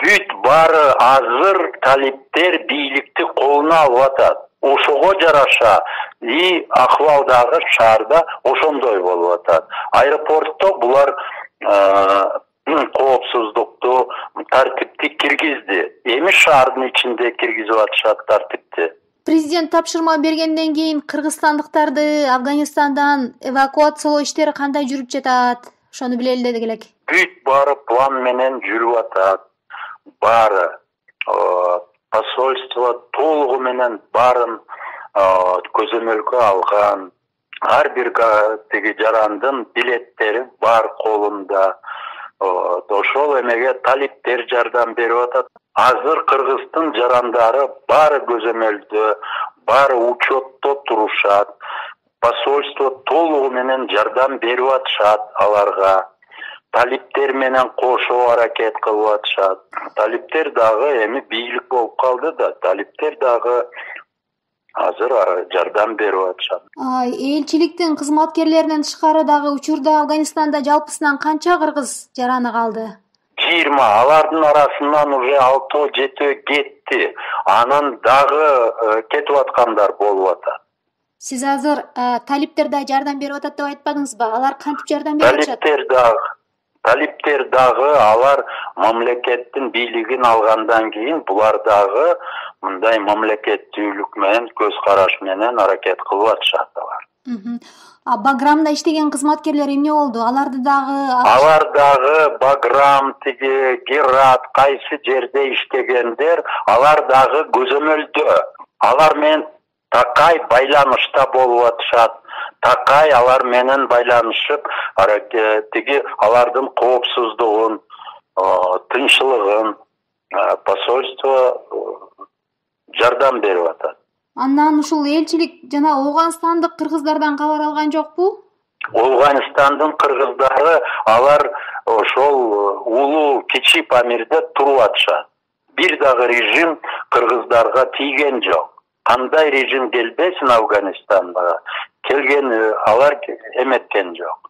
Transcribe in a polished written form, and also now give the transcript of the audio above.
бүт баары азыр талиптер бийликти колуна алып атат. Ошого жараша и акыбалдагы шаарда ошондой болуп атат. Аэропортто булар коопсуздукту, тартипти киргизди. Эми шаардын ичинде киргизип атышат тартипти. Президент тапшырма бергенден кийин кыргызстандыктарды Афганистандан эвакуациялоо иштери кандай жүрүп жатат? Ошону билели элек. Бүт баары план менен жүрүп атат. Баары посольство толугу менен баарын көзөмөлгө алган. Ар бир тиги жарандын билеттери бар колунда. Ошол эмеге талиптер жардам берип атат. Азыр Кыргыздын жарандары баары көзөмөлдө, баары учетто турушат. Посольство толугу менен жардам берип атышат аларга. Талиптер менен кошо аракет кылып атышат. Талиптер дагы эми бийлик болуп калды да, талиптер дагы азыр жардам берип атышат. Элчиликтин кызматкерлеринен тышкары дагы учурда Афганистанда жалпысынан канча кыргыз жараны калды? 20. Алардын арасынан уже 6-7 кетти. Анан дагы кетип аткандар болуп атат. Сиз азыр талиптер да жардам берип атат деп айтпадыңызбы? Алар кантип жардам берип атышат? Талиптер дагы алар мамлекеттин бийлигин алгандан кийин булар дагы мындай мамлекеттүүлүк менен, көз караш менен аракет кылып атышат алар. Баграмда иштеген кызматкерлер эмне болду? Алар дагы Баграм, тиги Герат, кайсы жерде иштегендер, алар дагы көзөмөлдө. Алар менен такай байланышта болуп атышат. Такай алар менен байланышып, тиги алардын коопсуздугун, тынччылыгын посольство жардам берип атат. Андан ушул элчилик жана Ооганстандык кыргыздардан кабар алган жокпу? Ооганстандын кыргыздары алар ошол улуу кичи Памирде туруп атышат. Бир дагы режим кыргыздарга тийген жок. Кандай режим келбесин Афганистанга, келген алар эметкен жок.